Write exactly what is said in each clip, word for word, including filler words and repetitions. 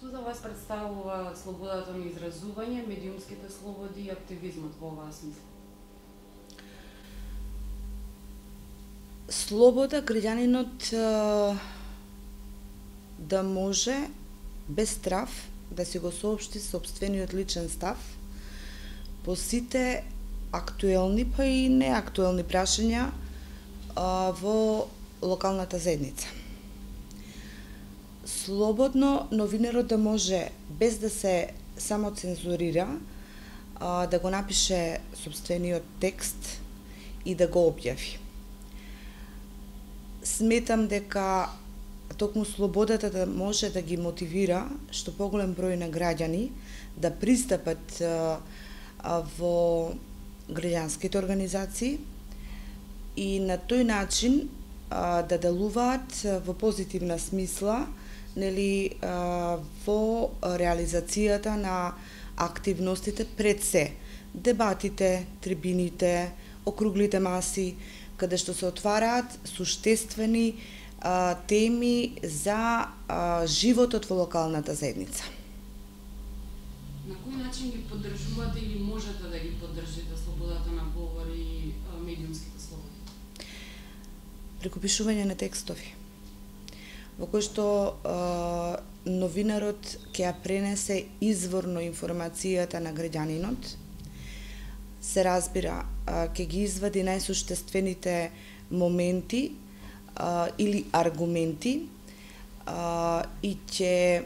Што за вас представува слободата на изразување, медиумските слободи и активизмот во оваа смисла? Слобода граѓанинот да може без страв да си го соопшти сопствениот личен став по сите актуелни па и неактуелни прашања во локалната заедница. Слободно новинарот да може без да се самоцензурира да го напише сопствениот текст и да го објави. Сметам дека токму слободата да може да ги мотивира што поголем број на граѓани да пристапат во граѓанските организации и на тој начин да делуваат во позитивна смисла, нели, во реализацијата на активностите пред се, дебатите, трибините, округлите маси, каде што се отвараат суштествени а, теми за а, животот во локалната заедница. На кој начин ги поддржувате или можете да ги поддржите слободата на говор и а, медиумските слободи? Преку пишување на текстови, во кој што а, новинарот ќе ја пренесе изворно информацијата на граѓанинот, се разбира, ќе ги извади најсуштествените моменти а, или аргументи а, и ќе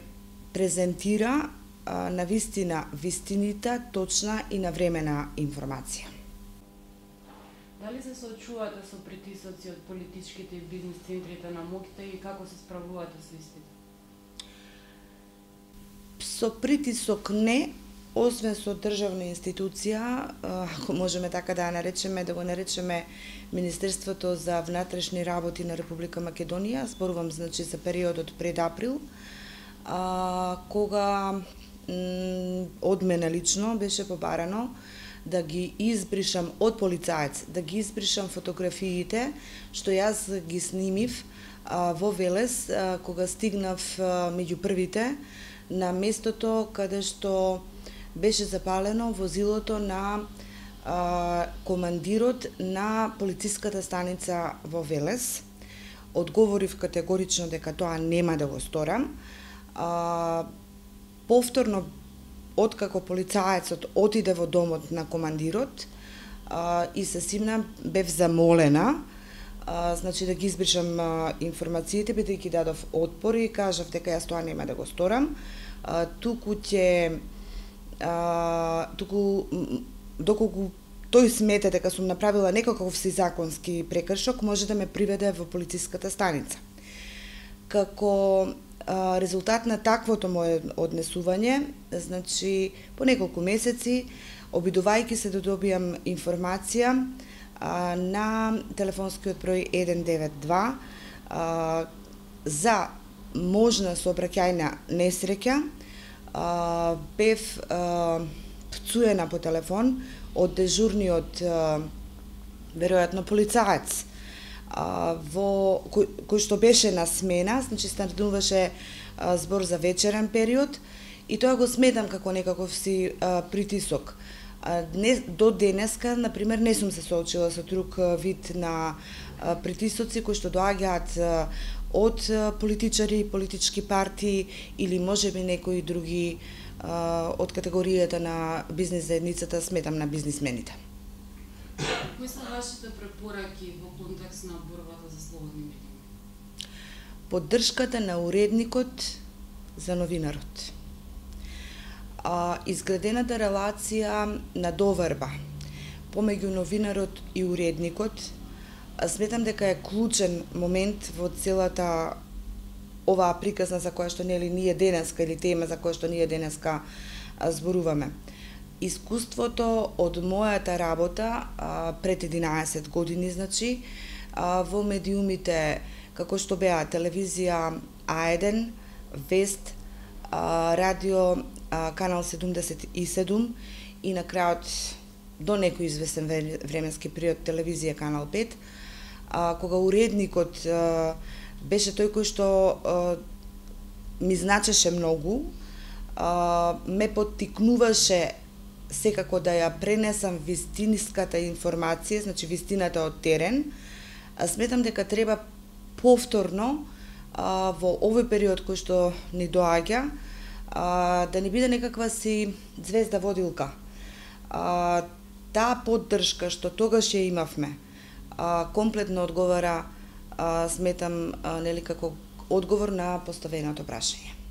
презентира а, на вистина вистинита, точна и навремена информација. Дали се соочувате со притисоци од политичките и бизнис центрите на моќта и како се справувате со истите? Со притисок не, освен со државна институција, ако можеме така да ја наречеме, да го наречеме Министерството за внатрешни работи на Република Македонија, зборувам значи за периодот пред април, а, кога од мене лично беше побарано да ги избришам од полицаец, да ги избришам фотографиите што јас ги снимив а, во Велес, а, кога стигнав а, меѓу првите на местото каде што беше запалено возилото на а, командирот на полициската станица во Велес. Одговорив категорично дека тоа нема да го сторам. А, повторно, откако полицаецот отиде во домот на командирот а, и се симна, бев замолена а, значи да ги избришам а, информациите, бидејќи дадов отпор и кажав дека јас тоа нема да го сторам. А, туку ќе А, туку доколку тој смета дека сум направила некаков си законски прекршок, може да ме приведе во полициската станица. Како а, резултат на таквото мое однесување, значи по неколку месеци, обидувајќи се да добијам информација а, на телефонскиот број еден девет два а, за можна сообраќајна несреќа, Uh, бев uh, пцуена по телефон од дежурниот uh, веројатно полицаец uh, во кој, кој што беше на смена, значи стануваше uh, збор за вечерен период и тоа го сметам како некаков си uh, притисок. Uh, не, до денеска, например, не сум се соочила со друг uh, вид на uh, притисоци кои што доаѓаат uh, од политичари, политички партии или можеби некои други а, од категоријата на бизнис заедницата, сметам на бизнисмените. Кои се вашите препораки во контекст на борбата за слободни медии? Поддршката на уредникот за новинарот. А, изградената релација на доверба помеѓу новинарот и уредникот, сметам дека е клучен момент во целата оваа приказна за која што нели ние денеска или тема за која што ние денеска зборуваме. Искуството од мојата работа а, пред единаесет години, значи, а, во медиумите како што беа телевизија А еден, Вест, а, радио а, канал седумдесет и седум и на крајот до некој известен временски период телевизија канал пет, а, кога уредникот а, беше тој кој што а, ми значеше многу, а, ме поттикнуваше секако да ја пренесам вистинската информација, значи вистината од терен. А сметам дека треба повторно а, во овој период кој што ни доаѓа а, да не биде некаква си звезда водилка. А, таа поддршка што тогаш ја имавме а, комплетно одговара, а, сметам, а, нели како одговор на поставеното прашање.